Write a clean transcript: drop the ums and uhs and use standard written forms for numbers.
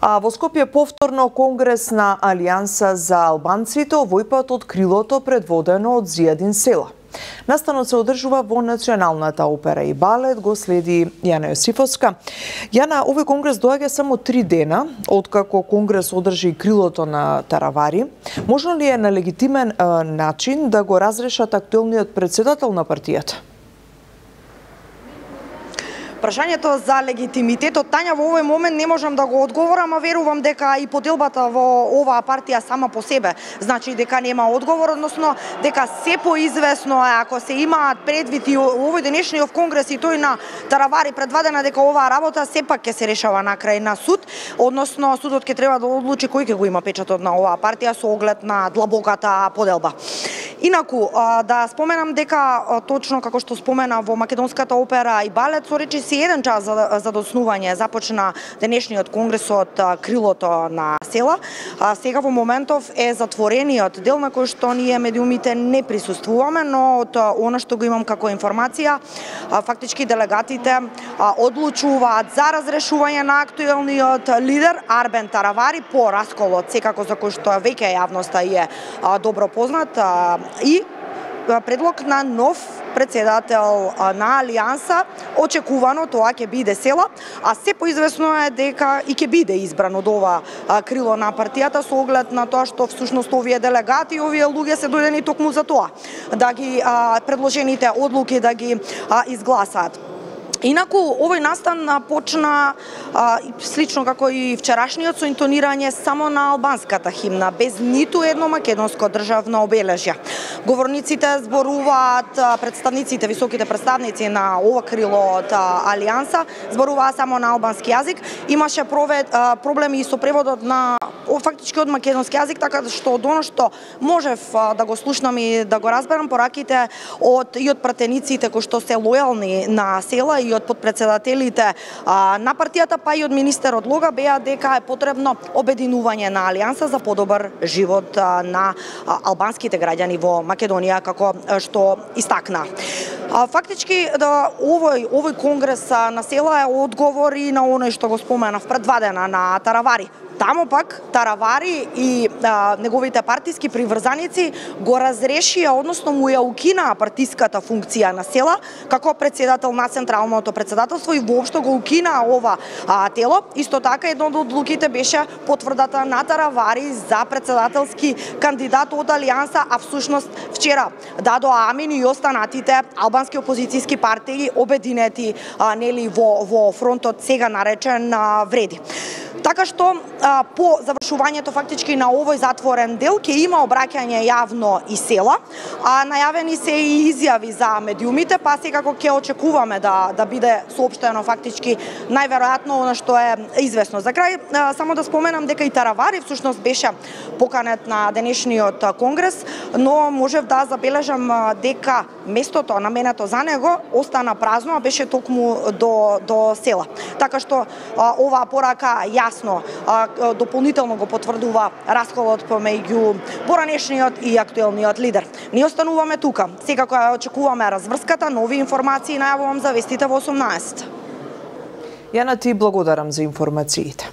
А во Скопје повторно конгрес на Алијанса за албанците, овој пат од крилото предводено од Зијадин Села. Настанот се одржува во Националната опера и балет, го следи Јана Јосифовска. Јана, овој конгрес доаѓа само 3 дена откако конгрес одржи крилото на Таравари. Можно ли е на легитимен начин да го разрешат актуелниот председател на партијата? Прашањето за легитимитетот, Тања, во овој момент не можам да го одговорам, а верувам дека и поделбата во оваа партија сама по себе значи дека нема одговор, односно дека се поизвестно е, ако се имаат предвид и овој денешниот конгрес и тој на Таравари предвидена дека оваа работа сепак ќе се решава на крај на суд, односно судот ќе треба да одлучи кој ќе го има печатот на оваа партија со оглед на длабоката поделба. Инаку, да споменам дека точно како што спомена во Македонската опера и балет, со речиси 1 час за доцнување започна денешниот конгрес од крилото на Села. Сега во моментов е затворениот дел на кој што ние медиумите не присуствуваме, но од она што го имам како информација, фактички делегатите одлучуваат за разрешување на актуелниот лидер Арбен Таравари по расколот, секако за кој што веќе јавноста е добро познат, и предлог на нов председател на Алијанса, очекувано тоа ќе биде Села, а се поизвестно е дека и ќе биде избран од ова крило на партијата со оглед на тоа што всушност овие делегати, овие луѓе се дојдени токму за тоа, да ги предложените одлуки да ги изгласаат. Инаку, овој настан почна слично како и вчерашниот со интонирање само на албанската химна, без ниту едно македонско државно обележје. Говорниците зборуваат, представниците, високите представници на ова крило од Алијанса, зборуваа само на албански јазик. Имаше проблеми и со преводот на фактички од македонски јазик, така што од оно што можев да го слушнам и да го разберам пораките и од пратениците кои што се лојални на Села и од подпредседателите на партијата, па и од министерот Лога, беа дека е потребно обединување на Алијанса за подобар живот на албанските граѓани во Македонија, како што истакна. Фактички овој конгрес на Села е одговор и на оној што го споменав предвадена на Таравари. Тамо пак Таравари и неговите партиски приврзаници го разрешија, односно му ја укинаа партиската функција на Села како председател на Централното председателство и воопшто го укинаа ова тело. Исто така, едно од одлуките беше потврдата на Таравари за председателски кандидат од Алијанса, а всушност вчера дадоа амин и останатите албански опозицијски партии обединети нели во фронтот сега наречен Вреди. Така што по завршувањето фактички на овој затворен дел ќе има обраќање јавно и Села, најавени се и изјави за медиумите, па секако ќе очекуваме да биде соопштено фактички најверојатно она што е известно. За крај само да споменам дека и Таравари всушност беше поканет на денешниот конгрес, но можев да забележам дека местото наменето за него остана празно, а беше токму до Села. Така што оваа порака јасно дополнително го потврдува расколот помеѓу поранешниот и актуелниот лидер. Ние остануваме тука. Секако ја очекуваме разврската, нови информации најавувам за вестите во 18. Јана, ти благодарам за информациите.